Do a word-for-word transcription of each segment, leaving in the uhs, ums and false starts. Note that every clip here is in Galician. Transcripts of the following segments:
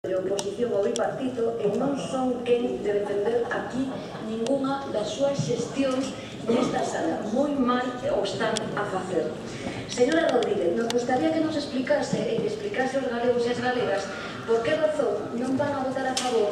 de oposición ao bipartito e non son quen de defender aquí ningunha das súas xestións nesta sala. Moi mal o están a facer. Señora Rodríguez, nos gustaría que nos explicase e que explicase aos galegos e as galegas por que razón non van a votar a favor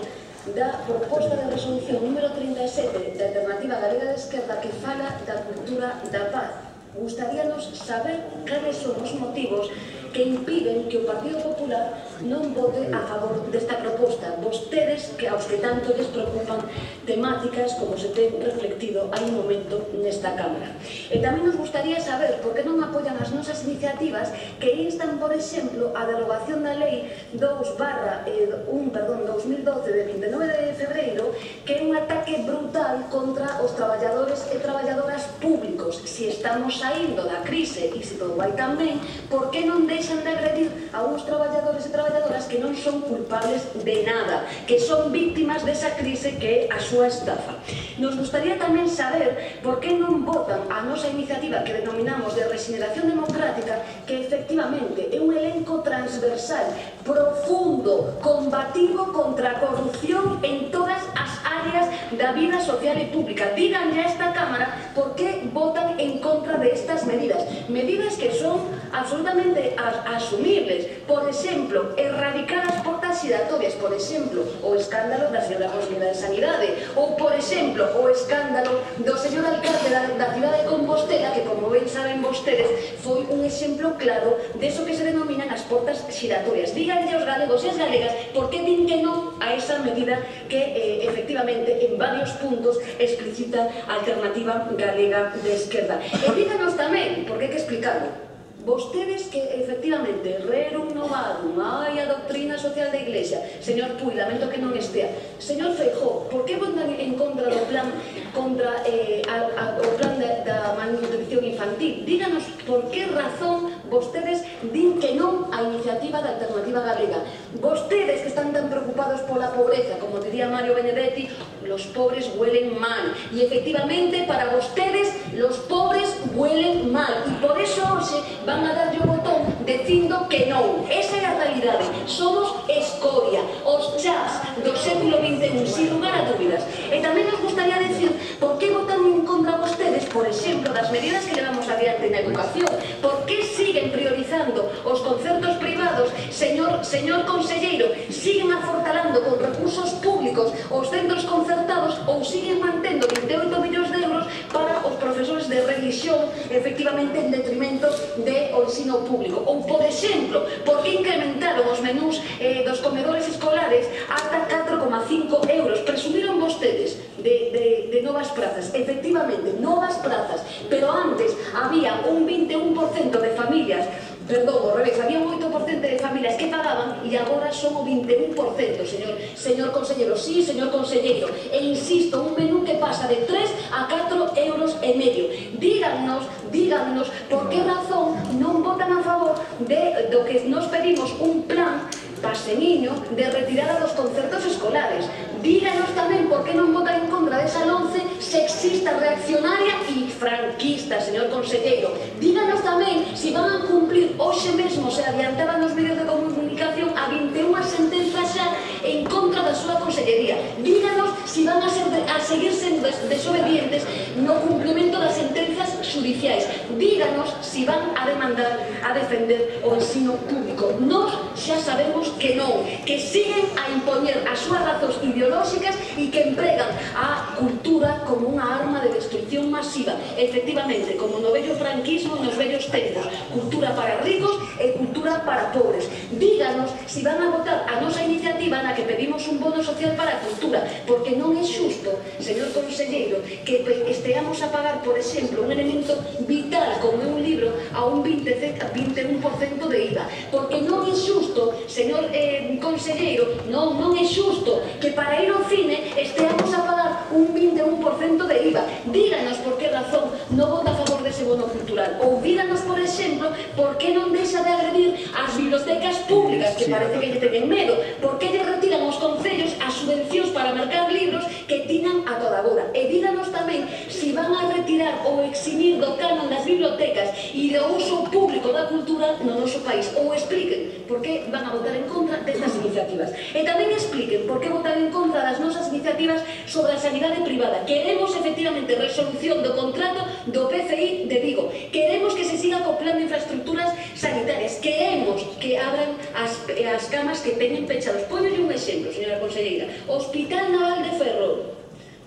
da proposta de resolución número trinta e sete da Alternativa Galega de Esquerda que fala da cultura da paz. Gustaríanos saber cales son os motivos que impiden que o Partido Popular non vote a favor desta proposta. Vostedes, que aos que tanto les preocupan temáticas como se ten reflectido hai un momento nesta Cámara. E tamén nos gustaría saber por que non apoian as nosas iniciativas que instan, por exemplo, a derogación da Lei dous barra un, perdón, dos mil doce de vinte e nove de febreiro, que é un ataque brutal contra os traballadores e traballadoras públicos. Se estamos saindo da crise e se todo vai tan ben, por que non deixan de agredir a uns traballadores e traballadoras que non son culpables de nada, que son víctimas desa crise que é a súa estafa? Nos gustaría tamén saber por que non votan a nosa iniciativa que denominamos de regeneración democrática, que efectivamente é un elenco transversal, profundo, combativo contra a corrupción en todas as áreas da vida social e pública. Díganlle a esta Cámara por que votan en contra de estas medidas. Medidas que son absolutamente asumibles. Por exemplo, erradicar as portas giratorias, por exemplo, o escándalo da señora Conselleira de Sanidade, ou, por exemplo, o escándalo do señor alcalde da, da cidade de Compostela, que, como ben saben vostedes, foi un exemplo claro deso que se denominan as portas giratorias. Díganlle aos galegos e as galegas por que din que non a esa medida que, eh, efectivamente, en varios puntos explicita a Alternativa Galega de Esquerda. E díganos tamén, porque hai que explicarlo, vostedes que, efectivamente, rerum novadum, hai a doctrina social da Iglesia. Señor Puy, lamento que non estea. Señor Feijóo, por que votan en contra do plan contra eh, a, a, o plan da, da malnutrición infantil? Díganos por que razón vostedes din que non a iniciativa da Alternativa Galega. Vostedes que están tan preocupados pola pobreza, como diría Mario Benedetti, los pobres huelen mal. E, efectivamente, para vostedes, los pobres huelen mal. E por eso hoxe van a darlle o botón dicindo que non. Esa é a realidade. Somos escoria, os chás do século vinte e un, sin lugar a dúbidas. E tamén nos gustaría decir por que votan en contra vostedes, por exemplo, das medidas que levamos adiante na educación. Por que siguen priorizando os concertos privados, señor, señor conselleiro, siguen afortalando con recursos públicos os centros concertados ou siguen mantendo vinte e oito millóns de euros para os profesores de religión, efectivamente, en detrimento de o ensino público? Ou, por exemplo, por que incrementaron os menús eh, dos comedores escolares ata catro coma cinco euros? Presumiron vostedes de, de, de novas prazas, efectivamente, novas prazas, pero antes había un vinte e un por cento de familias, perdón, ao revés, había un oito por cento de familias que pagaban e agora son o vinte e un por cento, señor, señor conselleiro. Sí, señor conselleiro, e insisto, un menú que pasa de tres a catro euros e medio. Díganos, díganos por que razón non votan a favor de, do que nos pedimos un plan paseniño de retirada dos concertos escolares. Díganos tamén por que non votan en contra desa LOMCE sexista, reaccionaria e franquista, señor conselleiro. Díganos tamén se van a cumplir hoxe mesmo, se adiantaban nos medios de comunicación, a vinte e unha sentenzas xa en contra da súa consellería. Díganos se van a, ser de, a seguir sendo des, desobedientes no cumplimento das sentenzas judiciais. Díganos se van a demandar, a defender o ensino público. Nos xa sabemos que non, que siguen a impoñer as súas razóns ideolóxicas e que empregan a cultura como unha arma de destrucción masiva. Efectivamente, como no vello franquismo nos vellos tempos, cultura para ricos e cultura para pobres. Díganos se van a votar a nosa iniciativa na que pedimos un bono social para a cultura, porque non é xusto, señor conselleiro, que esteamos a pagar, por exemplo, un elemento vital como é un libro a un vinte e un por cento de I V A, porque non é xusto, señor eh, conselleiro, non, non é xusto que para ir ao cine esteamos a pagar un vinte e un por cento de I V A. Díganos por que razón non vota a favor dese bono cultural. Ou díganos, por exemplo, por que non deixa de agredir as bibliotecas públicas, que parece que lle teñen medo. Por que lle retiran aos concellos as subvencións para mercar libros que tiñan a toda agora. E díganos tamén se van a retirar limitar ou eximir do canon das bibliotecas e do uso público da cultura no noso país. Ou expliquen por que van a votar en contra destas iniciativas. E tamén expliquen por que votar en contra das nosas iniciativas sobre a sanidade privada. Queremos, efectivamente, resolución do contrato do P C I de Vigo. Queremos que se siga co plan de infraestructuras sanitarias. Queremos que abran as, as camas que teñen pechados. Póñole un exemplo, señora conselleira. Hospital Naval de Ferrol.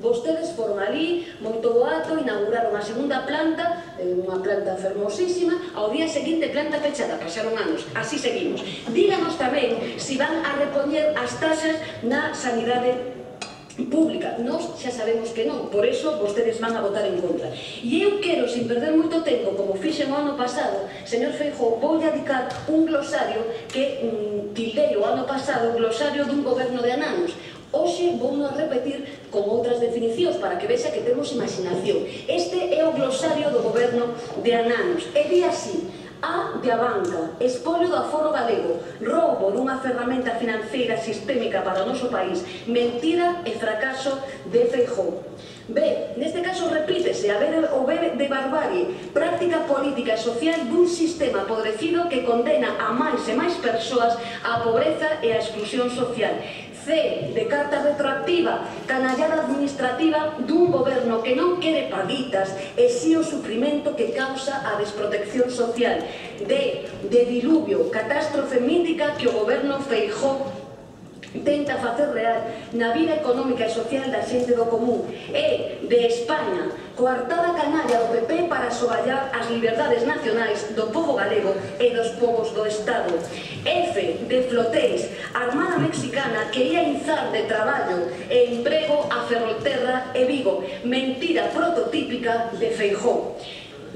Vostedes foron ali, moito boato, inauguraron a segunda planta, unha planta fermosísima, ao día seguinte planta pechada, pasaron anos, así seguimos. Díganos tamén se van a repoñer as taxas na sanidade pública. Nós xa sabemos que non, por eso vostedes van a votar en contra. E eu quero, sin perder moito tempo, como fixen o ano pasado, señor Feijóo, vou dedicar un glosario que mm, tildei o ano pasado, glosario dun goberno de ananos. Hoxe vou a repetir con outras definicións para que vexa que temos imaginación. Este é o glosario do goberno de ananos. E di así: A de Abanca, espolio do aforo galego, roubo dunha ferramenta financeira sistémica para o noso país, mentira e fracaso de Feijóo. B, neste caso repítese, a B o B de barbarie, práctica política e social dun sistema podrecido que condena a máis e máis persoas á pobreza e á exclusión social. C, de carta retroactiva, canallada administrativa dun goberno que non quere paguitas e si o sufrimento que causa a desprotección social. D, de diluvio, catástrofe mítica que o goberno Feijóo tenta facer real na vida económica e social da xente do común. E, de España, coartada canalla do P P para soballar as liberdades nacionais do povo galego e dos povos do Estado. F, de flotéis, armada mexicana que ia inzar de traballo e emprego a Ferrolterra e Vigo, mentira prototípica de Feijóo.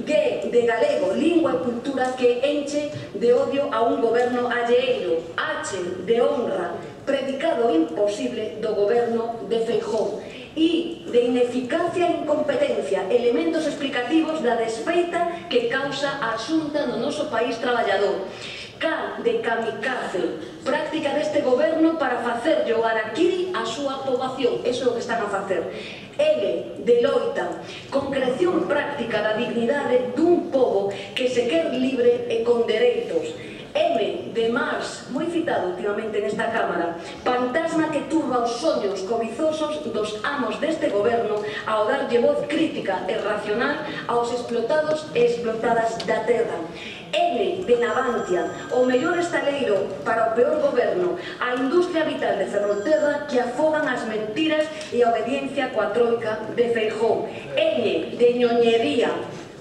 G, de galego, lingua e cultura que enche de odio a un goberno alleiro. H, de honra, predicado imposible do goberno de Feijóo. I, de ineficacia e incompetencia, elementos explicativos da desfeita que causa a Xunta no noso país traballador. K, de kamikaze, práctica deste goberno para facer o harakiri a súa poboación. Eso é o que están a facer. L, de loita, concreción práctica da dignidade dun pobo que se quer libre e con dereitos. M, de Mars, moi citado últimamente nesta Cámara, fantasma que turba os soños cobizosos dos amos deste goberno ao darlle voz crítica e racional aos explotados e explotadas da terra. N, de Navantia, o mellor estaleiro para o peor goberno, a industria vital de Ferrolterra que afogan as mentiras e a obediencia coa troika de Feijóo. N, de ñoñería,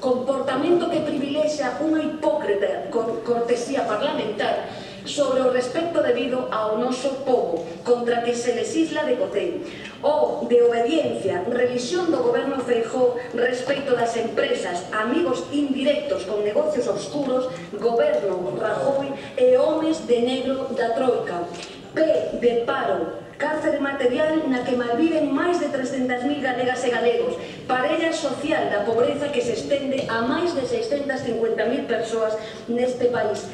comportamento que privilexia unha hipócrita cortesía parlamentar sobre o respecto debido ao noso povo, contra que se legisla de cotén. O, de obediencia, revisión do goberno Feijóo respecto das empresas, amigos indirectos con negocios oscuros, goberno Rajoy e homes de negro da troika. P, de paro, cárcere material na que malviven máis de trescentas mil galegas e galegos, parella social da pobreza que se estende a máis de seiscentas cincuenta mil persoas neste país.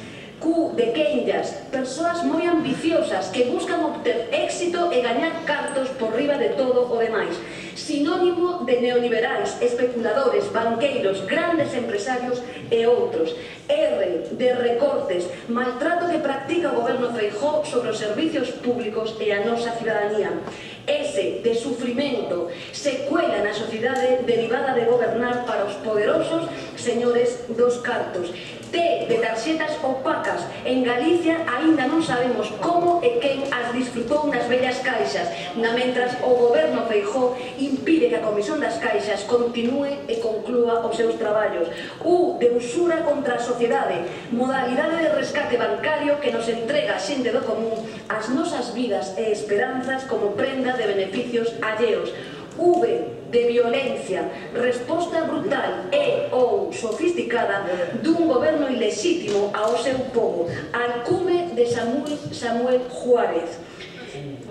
Q, de quenllas, persoas moi ambiciosas que buscan obter éxito e gañar cartos por riba de todo o demais. Sinónimo de neoliberais, especuladores, banqueiros, grandes empresarios e outros. R, de recortes, maltrato que practica o goberno Feijóo sobre os servicios públicos e a nosa cidadanía. S, de sufrimento, secuela na sociedade derivada de gobernar para os poderosos señores dos cartos. T, de tarxetas opacas, en Galicia aínda non sabemos como e quen as disfrutou nas vellas caixas, na mentras o goberno Feijóo impide que a Comisión das Caixas continúe e conclúa os seus traballos. U, de usura contra a sociedade, modalidade de rescate bancario que nos entrega a xente do común as nosas vidas e esperanzas como prenda de beneficios alleos. V, de violencia, resposta brutal e ou sofisticada dun goberno ilexítimo ao seu povo, alcume de Samuel, Samuel Juárez.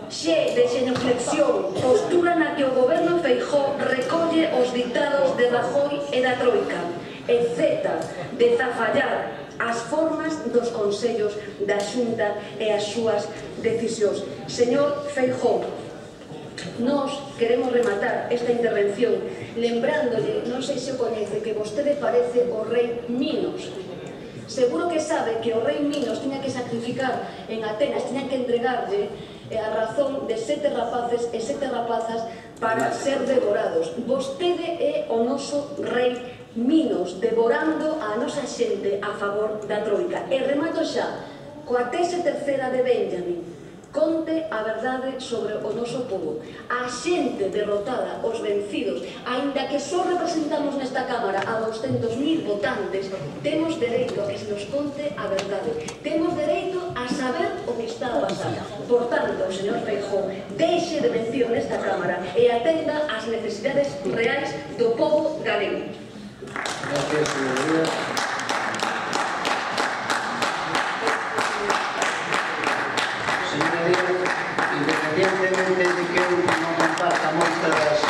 X, de xenoflexión, postura na que o goberno Feijóo recolle os ditados de Rajoy e da Troika. E Z, de zafallar as formas dos consellos da Xunta e as súas decisións. Señor Feijóo, Nos queremos rematar esta intervención lembrándole, non sei se o coñece, que vostede parece o rei Minos. Seguro que sabe que o rei Minos tiña que sacrificar en Atenas, tiña que entregarlle a razón de sete rapaces e sete rapazas para ser devorados. Vostede é o noso rei Minos, devorando a nosa xente a favor da Troika. E remato xa, coa tese terceira de Benjamin, conte a verdade sobre o noso povo. A xente derrotada, os vencidos, aínda que só representamos nesta Cámara a douscentos mil votantes, temos dereito a que se nos conte a verdade. Temos dereito a saber o que está a pasar. Por tanto, señor Feijóo, deixe de mención nesta Cámara e atenda ás necesidades reais do povo galego. Gracias, señoría. Independientemente de que eu non comparta moitas das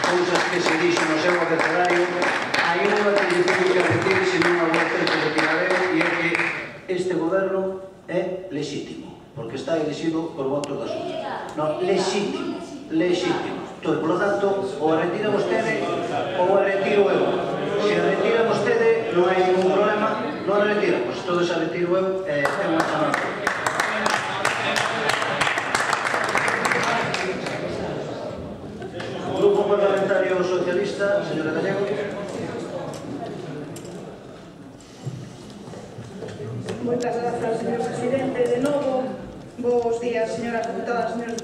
cousas que se dixo no seu abecedario, hai unha que lle teño que repetir se non a vou ter que retirar eu, e é que este goberno é lexítimo, porque está elegido por voto da sociedade. Non, lexítimo, lexítimo. Entón, por lo tanto, ou a retira vostede ou a retiro eu. Se a retira vostede, non hai ningún problema, non a retira, pois todo se a retiro eu, é unha chamada. Grupo Parlamentario Socialista, señora Gallego. Moitas grazas, señor presidente. De novo, bos días, señoras deputadas, señores